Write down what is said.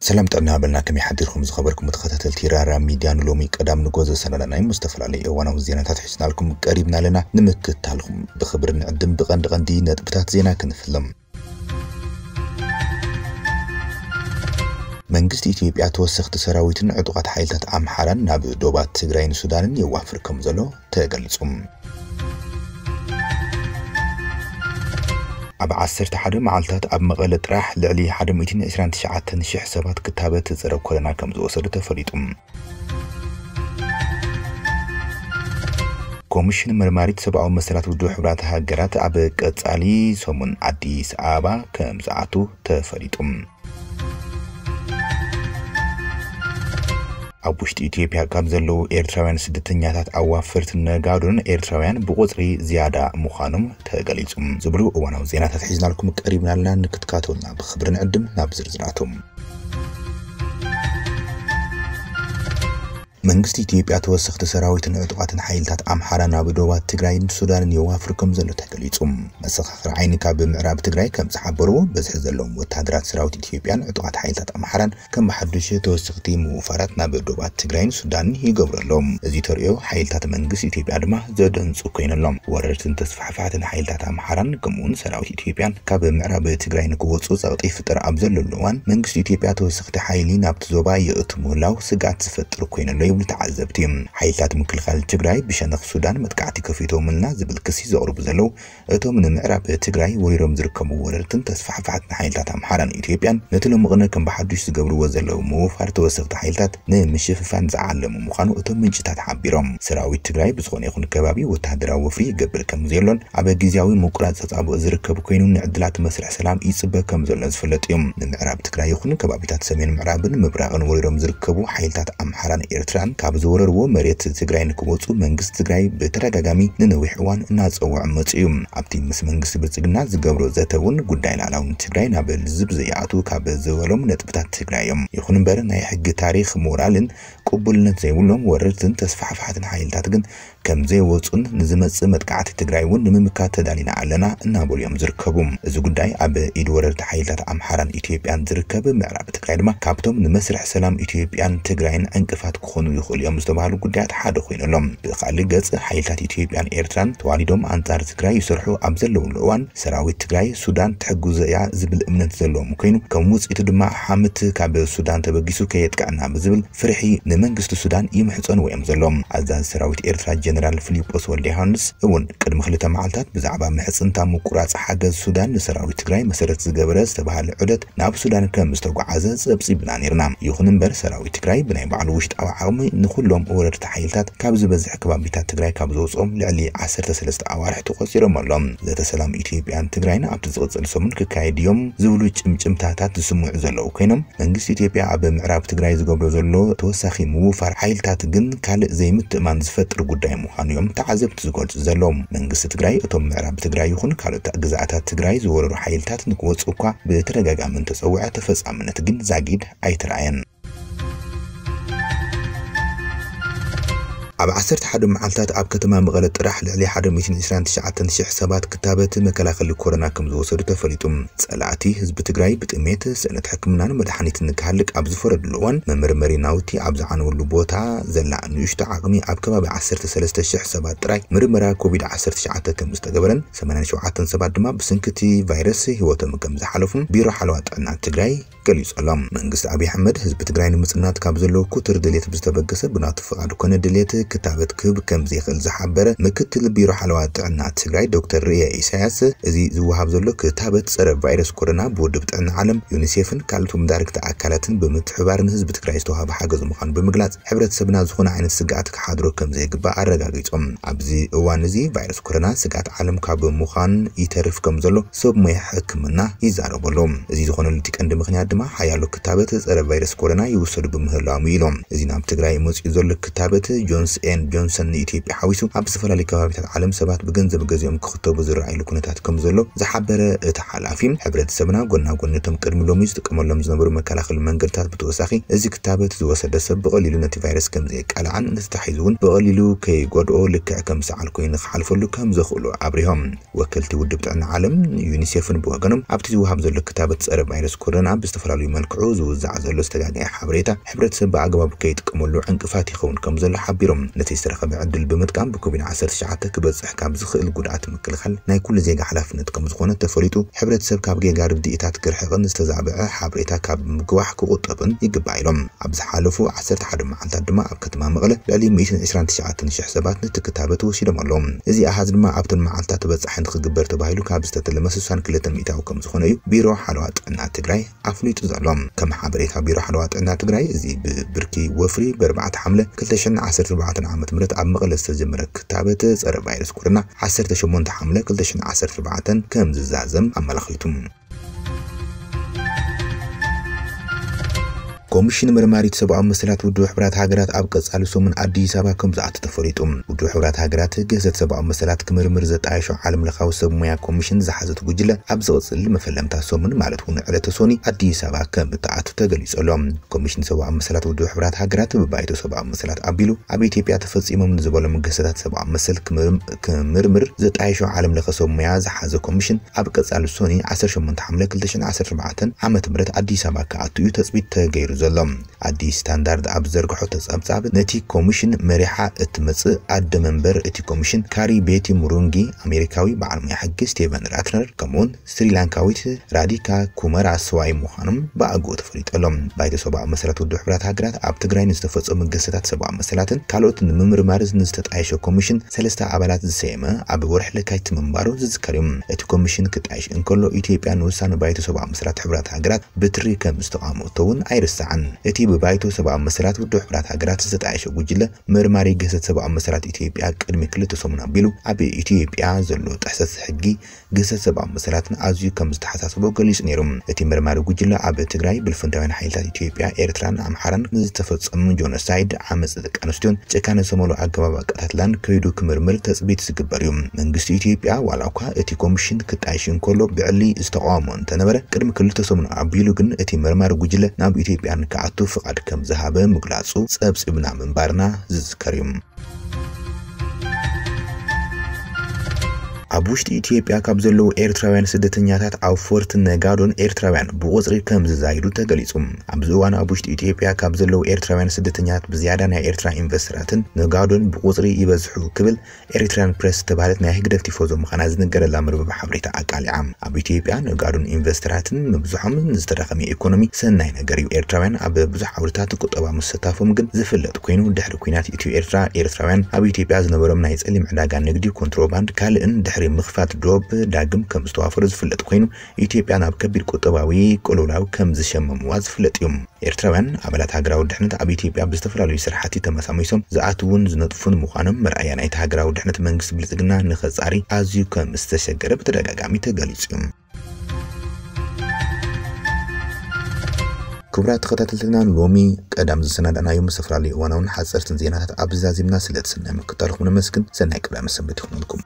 ሰላም ጥዕና በልና፣ ከመይ ሓዲርኩም ዝኸበርኩም ተኸታተልቲ ራራ ሚድያ? ንሎሚ ቀዳም ንጎ ዘሰናዳናዮም ዝተፈላለዩ እዋናዊ ዜናታት ሒዝናልኩም ቀሪብና ኣለና። ንምክታልኩም ብኽብሪ ንዕድም። ብቐንዲ ቀንዲ ነጥብታት ዜና ክንፍሎም። መንግስቲ ኢትዮጵያ ተወሰኽቲ ሰራዊትን ዕጡቓት ሓይልታት ኣምሓራን ናብ ዶባት ትግራይን ሱዳንን የዋፍር ከም ዘሎ ተገሊጹ። ኣብ ዓሰርተ ሓደ መዓልታት ኣብ መቐለ ጥራሕ ልዕሊ ሓደ ሚእትን ዕስራን ትሽዓተን ሽሕ ሰባት ክታበት ጸረ ኮሮና ከም ዝወሰዱ ተፈሊጡ። ኮሚሽን መርማሪት ሰብኣዊ መሰላት ውድብ ሕቡራት ሃገራት ኣብ ቀጻሊ ሰሙን ኣዲስ ኣበባ ከም ዝኣቱ ተፈሊጡ። ኣብ ውሽጢ ኢትዮጵያ ካብ ዘለዉ ኤርትራውያን ስደተኛታት ኣዋፈርትን ነጋዶን ኤርትራውያን ብቁጽሪ ዝያዳ ምዃኖም ተገሊጹ። ዝብሉ እዋናዊ ዜናታት ሒዝናልኩም ቀሪብና ኣለና። ንክትካተሉና ብኽብሪ ንዕድም። ናብ ዝርዝራቶም። መንግስቲ ኢትዮጵያ ተወሰኽቲ ሰራዊትን ዕጡቓትን ሓይልታት ኣምሓራ ናብ ዶባት ትግራይን ሱዳንን የዋፍር ከም ዘሎ ተገሊጹ። መሰኻኽር ዓይኒ ካብ ምዕራብ ትግራይ ከም ዝሓበርዎ፣ በዝሒ ዘለዎም ወታደራት ሰራዊት ኢትዮጵያን ዕጡቓት ሓይልታት ኣምሓራን ከም ብሓዱሽ ተወሰኽቲ ምውፋራት ናብ ዶባት ትግራይን ሱዳንን ይገብሩ ኣለዉ። እዚ ተርእዮ ሓይልታት መንግስቲ ኢትዮጵያ ድማ ዘደንጹ ኮይኑ ኣሎ። ወረርትን ተስፋሕፋሕትን ሓይልታት ኣምሓራን ከምኡውን ሰራዊት ኢትዮጵያን ካብ ምዕራብ ትግራይ ንክወጹ ጸቕጢ ይፍጠር ኣብ ዘለሉ እዋን፣ መንግስቲ ኢትዮጵያ ተወሰኽቲ ሓይሊ ናብቲ ዞባ የእቱ ምህላው ስግኣት ዝፈጥር ኮይኑ ኣሎ ይብሉ ተዓዘብቲ። ሓይልታት ምክልኻል ትግራይ ብሸነኽ ሱዳን መጥቃዕቲ ከፊቶምልና ዝብል ክሲ ዘቕርቡ ዘለዉ እቶም ንምዕራብ ትግራይ ወሪሮም ዝርከቡ ወረርትን ተስፋሕፋሕትን ሓይልታት ኣምሓራን ኢትዮጵያን ነቲ ሎሚ ቅነ ከም ብሓዱሽ ዝገብርዎ ዘለዉ ምውፋር ተወሰኽቲ ሓይልታት ንምሽፍፋን ዝዓለሙ ምዃኑ እቶም ምንጭታት ሓቢሮም። ሰራዊት ትግራይ ብዝኾነ ይኹን ከባቢ ወታደራዊ ወፍሪ ይገብር ከም ዘየሎን ኣብ ግዝያዊ ምቁራጽ ተጻብኦ ዝርከብ ኮይኑ፣ ንዕድላት መስርሕ ሰላም ይጽበ ከም ዘሎ ዝፍለጥ እዩ። ንምዕራብ ትግራይ ይኹን ከባቢታት ሰሜን ምዕራብን ምብራቕን ወሪሮም ዝርከቡ ሓይልታት ኣምሓራን ኤርትራን ካብ ዝወረርዎ መሬት ትግራይ ንክወጹ መንግስቲ ትግራይ ብተደጋጋሚ ንነዊሕ እዋን እናጸውዐ መጺኡ እዩ። ኣብቲ ምስ መንግስቲ ብልጽግና ዝገብሮ ዘተ እውን ጉዳይ ላዕላውነት ትግራይ ናብ ልዝብ ዘይኣቱ ካብ ዝበሎም ነጥብታት ትግራይ እዮም። ይኹን እምበር ናይ ሕጊ ታሪኽ ሞራልን ቅቡልነት ዘይብሎም ወረርትን ተስፋሕፋሕትን ሓይልታት ግን ከም ዘይወጹን ንዝመጽእ መጥቃዕቲ ትግራይ እውን ንምምካት ተዳሊና ኣለና እናበሉ እዮም ዝርከቡ። እዚ ጉዳይ ኣብ ኢድ ወረርቲ ሓይልታት ኣምሓራን ኢትዮጵያን ዝርከብ ምዕራብ ትግራይ ድማ ካብቶም ንመስርሕ ሰላም ኢትዮጵያን ትግራይን ዕንቅፋት ክኾኑ ይኽእሉ እዮም ዝተባህሉ ጉዳያት ሓደ ኮይኑ ኣሎ። ብኻልእ ገጽ ሓይልታት ኢትዮጵያን ኤርትራን ተዋዲዶም ኣንጻር ትግራይ ይሰርሑ ኣብ ዘለውሉ እዋን ሰራዊት ትግራይ ሱዳን ትሕግዞ እያ ዝብል እምነት ዘለዎም ኮይኑ ከም ውጽኢቱ ድማ ሓምት ካብ ሱዳን ተበጊሱ ከየጥቅዐና ብዝብል ፍርሒ ንመንግስቲ ሱዳን ይምሕጸንዎ እዮም ዘለዉ። ኣዛዚ ሰራዊት ኤርትራ ጀነራል ፊሊጶስ ወልደ ዮሃንስ እውን ቅድሚ ክልተ መዓልታት ብዛዕባ ምሕጽንታ ምቁራጽ ሓገዝ ሱዳን ንሰራዊት ትግራይ መሰረት ዝገበረ ዝተባህለ ዑደት ናብ ሱዳን ከም ዝተጓዓዘ ጸብጺብና ነርና። ይኹን እምበር ሰራዊት ትግራይ ብናይ ባዕሉ ውሽጣዊ ዓቕሚ ንኹሎም ወረርቲ ሓይልታት ካብ ዝበዝሕ ከባቢታት ትግራይ ካብ ዘውፅኦም ልዕሊ ዓሰርተ ሰለስተ ኣዋርሕ ተቆፂሮም ኣሎ። ዘተ ሰላም ኢትዮጵያን ትግራይን ኣብቲ ዝቕፅል ሰሙን ክካየድ እዮም ዝብሉ ጭምጭምታታት ዝስምዑ ዘለዉ ኮይኖም መንግስቲ ኢትዮጵያ ኣብ ምዕራብ ትግራይ ዝገብሮ ዘሎ ተወሳኺ ምውፋር ሓይልታት ግን ካልእ ዘይምትእማን ዝፈጥር ጉዳይ ምዃኑ እዮም ተዓዘብቲ ዝገልፁ ዘለዉ። መንግስቲ ትግራይ እቶም ምዕራብ ትግራይ ይኹን ካልኦት ግዝኣታት ትግራይ ዝወረሩ ሓይልታት ንክወፁ እኳ ብተደጋጋሚ እንተፀውዐ ተፈፃምነት ግን ዛጊድ ኣይተረኣየን። ኣብ ዓሰርተ ሓደ መዓልታት ኣብ ከተማ መቐለ ጥራሕ ልዕሊ ሓደ ሚእትን ዕስራን ትሽዓተን ሽሕ ሰባት ክታበት መከላኸሊ ኮሮና ከም ዝወሰዱ ተፈሊጡ። ጸላእቲ ህዝቢ ትግራይ ብጥሜት፣ ስእነት ሕክምናን መድሓኒትን ክሃልቅ ኣብ ዝፈረድሉ እዋን መመርመሪ ናውቲ ኣብ ዝዓነወሉ ቦታ ዘላ ንእሽቶ ዓቕሚ ኣብ ከባቢ ዓሰርተ ሰለስተ ሽሕ ሰባት ጥራይ ምርመራ ኮቪድ ዓሰርተ ትሽዓተ ከም ዝተገበረን ሰማንያን ሸውዓተን ሰባት ድማ ብስንክቲ ቫይረስ ህይወቶም ከም ዝሓለፉን ቢሮ ሓለዋ ጥዕና ትግራይ ገሊጹ ኣሎ። መንግስቲ ኣብይ ኣሕመድ ህዝቢ ትግራይ ንምጽናት ካብ ዘለዎ ክቱር ድሌት ብዝተበገሰ ብናቱ ፍቓድ ኮነ ድሌት ክታበት ክህብ ከም ዘይኽእል ዝሓበረ ምክትል ቢሮ ሓለዋ ጥዕና ትግራይ ዶክተር ርእየ ኢሳያስ፣ እዚ ዝወሃብ ዘሎ ክታበት ጸረ ቫይረስ ኮሮና ብውድብ ጥዕና ዓለም፣ ዩኒሴፍን ካልኦት መዳርግቲ ኣካላትን ብምትሕብባር ንህዝቢ ትግራይ ዝተዋሃበ ሓገዝ ምዃኑ ብምግላጽ፣ ሕብረተሰብና ዝኾነ ዓይነት ስግኣት ክሓድሮ ከም ዘይግባእ ኣረጋጊጾም። ኣብዚ እዋን እዚ ቫይረስ ኮሮና ስግኣት ዓለም ካብ ምዃን ይተርፍ ከም ዘሎ ሰብ ሞያ ሕክምና ይዛረቡ ኣለዉ። እዚ ዝኾነሉ እቲ ቀንዲ ምኽንያት ድማ ሓያሎ ክታበት ጸረ ቫይረስ ኮሮና ይውሰዱ ብምህላዎም እዩ ኢሎም። እዚ ናብ ትግራይ መፂኡ ዘሎ ክታበት ጆንስ ኤን ጆንሰን ንኢትዮጵያ ሓዊሱ ኣብ ዝተፈላለዩ ከባቢታት ዓለም ሰባት ብገንዘብ ገዚኦም ክኽተቡ ዝረኣይሉ ኩነታት ከም ዘሎ ዝሓበረ እቲ ሓላፊ፣ ሕብረተሰብና ጎና ጎኒ እቶም ቅድሚ ሎሚ ዝጥቀመሎም ዝነበሩ መከላኸሊ መንገድታት ብተወሳኺ እዚ ክታበት ዝወሰደ ሰብ ብቐሊሉ ነቲ ቫይረስ ከም ዘየቃልዓን ነቲ ተታሒዙ እውን ብቐሊሉ ከይጎድኦ ልክዕ ከም ሰዓል ኮይኑ ክሓልፈሉ ከም ዘኽእሉ ኣብሪሆም። ወከልቲ ውድብ ጥዕና ዓለም ዩኒሴፍን ብወገኖም ኣብቲ ዝወሃብ ዘሎ ክታበት ጸረ ቫይረስ ኮሮና ብዝተፈላለዩ መልክዑ ዝውዛዕ ዘሎ ዝተጋገየ ሓበሬታ ሕብረተሰብ ብኣግባቡ ከይጥቀመሉ ዕንቅፋት ይኸውን ከም ዘሎ ሓቢሮም። ነቲ ዝተረኸበ ዕድል ብምጥቃም ብኮቪድ ዓሰርተ ትሽዓተ ክበጽሕ ካብ ዝኽእል ጉድኣት ምክልኻል ናይ ኩሉ ዜጋ ሓላፍነት ከም ዝኾነ ተፈሊጡ፣ ሕብረተሰብ ካብ ጌጋ ርድኢታት ክርሕቕን ዝተዛብዐ ሓበሬታ ካብ ምግዋሕ ክቑጠብን ይግባእ ኢሎም። ኣብ ዝሓለፉ ዓሰርተ ሓደ መዓልታት ድማ ኣብ ከተማ መቐለ ልዕሊ ሚእትን ዕስራን ትሽዓተን ሽሕ ሰባት ነቲ ክታበት ወሲዶም ኣለዉ። እዚ ኣሃዝ ድማ ኣብተን መዓልታት ተበጻሒ ንክግበር ተባሂሉ ካብ ዝተተለመ ስሳን ክልተን ሚእታዊ ከም ዝኾነ እዩ ቢሮ ሓለዋ ጥዕና ትግራይ ኣፍሊጡ ዘሎ። ከም ሓበሬታ ቢሮ ሓለዋ ጥዕና ትግራይ፣ እዚ ብብርኪ ወፍሪ ብኣርባዕተ ሓምለ ክልተ ሽሕን ዓሰርተ ኣርባዕተን ዓመተ ምህረት ኣብ መቐለ ዝተጀመረ ክታበት ጸረ ቫይረስ ኮሮና ዓሰርተ ሸሞንተ ሓምለ ክልተ ሽሕን ዓሰርተ ኣርባዕተን ከም ዝዛዘም ኣመላኺቱ። ኮሚሽን መርማሪት ሰብኣዊ መሰላት ውድብ ሕብራት ሃገራት ኣብ ቀጻሊ ሰሙን ኣዲስ ኣበባ ከም ዝኣቱ ተፈሊጡ። ውድብ ሕብራት ሃገራት ግህሰት ሰብኣዊ መሰላት ክምርምር ዘጣየሾ ዓለም ለኻዊ ሰብ ሞያ ኮሚሽን ዝሓዘት ጉጅለ ኣብ ዝቕጽል መፈለምታ ሰሙን ማለት እውን ዕለተ ሶኒ ኣዲስ ኣበባ ከም እትኣቱ ተገሊጹ ኣሎ። ኮሚሽን ሰብኣዊ መሰላት ውድብ ሕብራት ሃገራት ብባይቶ ሰብኣዊ መሰላት ኣቢሉ ኣብ ኢትዮጵያ ተፈጺሞም ንዝበሎም ግህሰታት ሰብኣዊ መሰል ክምርም-፣ ክምርምር ዘጣየሾ ዓለም ለኸ ሰብ ሞያ ዝሓዘ ኮሚሽን ኣብ ቀጻሊ ሶኒ ዓሰርተ ሸሞንተ ሓምለ ክልተ ሽሕን ዓሰርተ ኣርባዕተን ዓመተ ምህረት ኣዲስ ኣበባ ክኣቱ እዩ ተጽቢት ተገይሩ ዘሎ። ኣዲስ ስታንዳርድ ኣብ ዘርግሖ ተጸብጻብ ነቲ ኮሚሽን መሪሓ እትመጽእ ኣደ መንበር እቲ ኮሚሽን ካሪ ቤቲ ሙሩንጊ ኣሜሪካዊ በዓል ሞያ ሕጊ ስቴቨን ራትነር ከምኡውን ስሪላንካዊት ራዲካ ኩመራ ስዋይ ምዃኖም ብኣግኡ ተፈሊጡ ኣሎ። ባይቶ ሰብኣዊ መሰላት ውድብ ሕብራት ሃገራት ኣብ ትግራይ ንዝተፈጸሙ ግህሰታት ሰብኣዊ መሰላትን ካልኦት ንምምርማር ንዝተጣየሸ ኮሚሽን ሰለስተ ኣባላት ዝሰየመ ኣብ ወርሒ ለካቲት ምንባሩ ዝዝከር እዩ። እቲ ኮሚሽን ክጣየሽ እንከሎ ኢትዮጵያ ንውሳነ ባይቶ ሰብኣዊ መሰላት ሕብራት ሃገራት ብትሪ ከም ዝተቓወመቶ እውን ኣይርሳዕን። እቲ ብባይቶ ሰብኣዊ መሰላት ውድብ ሕብራት ሃገራት ዝተጣየሸ ጉጅለ መርማሪ ግህሰት ሰብኣዊ መሰላት ኢትዮጵያ ቅድሚ ክልተ ሰሙን ኣቢሉ ኣብ ኢትዮጵያ ዘሎ ጥሕሰት ሕጊ ግህሰት ሰብኣዊ መሰላትን ኣዝዩ ከም ዝተሓሳስቦ ገሊጹ ነይሩ። እቲ መርማሪ ጉጅለ ኣብ ትግራይ ብልፍንታውያን ሓይልታት ኢትዮጵያ፣ ኤርትራን ኣምሓራን ንዝተፈጸሙ ጆኖሳይድ፣ ዓመጽ ደቂ ኣንስትዮን ጭካነ ዝተመልኦ ኣገባብ ኣቀታትላን ከይዱ ክምርምር ተጽቢት ዝግበር እዩ። መንግስቲ ኢትዮጵያ ዋላ እኳ እቲ ኮሚሽን ክጣየሽ እንከሎ ብዕሊ ዝተቃወሞ እንተነበረ፣ ቅድሚ ክልተ ሰሙን ኣቢሉ ግን እቲ መርማሪ ጉጅለ ናብ ኢትዮጵያ ንክኣቱ ፍቓድ ከም ዝሃበ ምግላጹ ጸብጺብና ምንባርና ዝዝከር እዩ። ኣብ ውሽጢ ኢትዮጵያ ካብ ዘለዉ ኤርትራውያን ስደተኛታት ኣብ ፎርት ነጋዶን ኤርትራውያን ብቁጽሪ ከም ዝዛይዱ ተገሊጹ። ኣብዚ እዋን ኣብ ውሽጢ ኢትዮጵያ ካብ ዘለዉ ኤርትራውያን ስደተኛታት ብዝያዳ ናይ ኤርትራ ኢንቨስተራትን ነጋዶን ብቁጽሪ ይበዝሑ ክብል ኤሪትሪያን ፕሬስ ዝተባህለት ናይ ህግደፍ ቲፎዞ ምዃና ዝንገረላ መርበብ ሓበሬታ ኣቃሊዓ። ኣብ ኢትዮጵያ ነጋዶን ኢንቨስተራትን ምብዝሖም ንዝተዳኸመ ኢኮኖሚ ሰናይ ነገር እዩ። ኤርትራውያን ኣብ ብዙሕ ዓውድታት ቁጠባ ምስታፎም ግን ዝፍለጥ ኮይኑ፣ ድሕሪ ኲናት ኢትዮ ኤርትራ ኤርትራውያን ኣብ ኢትዮጵያ ዝነበሮም ናይ ጸሊም ዕዳጋ ንግዲ፣ ኮንትሮባንድ፣ ካልእን ድሕሪ ምኽፋት ዶብ ዳግም ከም ዝተዋፈሩ ዝፍለጥ ኮይኑ፣ ኢትዮጵያ ናብ ከቢድ ቁጠባዊ ቅልውላው ከም ዝሸመምዋ ዝፍለጥ እዩ። ኤርትራውያን ኣባላት ሃገራዊ ድሕነት ኣብ ኢትዮጵያ ብዝተፈላለዩ ስራሕቲ ተመሳሚሶም ዝኣትዉን ዝነጥፉን ምዃኖም መርኣያ ናይቲ ሃገራዊ ድሕነት መንግስቲ ብልጽግና ንኸጻሪ ኣዝዩ ከም ዝተሸገረ ብተደጋጋሚ ተገሊጹ እዩ። ክቡራት ተኸታተልትና፣ ሎሚ ቀዳም ዝሰናዳእናዮም ዝተፈላለዩ እዋናውን ሓጸርትን ዜናታት ኣብዚ ዛዚምና። ስለ እቲ ሰናይ ምክትታልኩም ነመስግን። ሰናይ ቀዳመ ሰንበት ይኹነልኩም።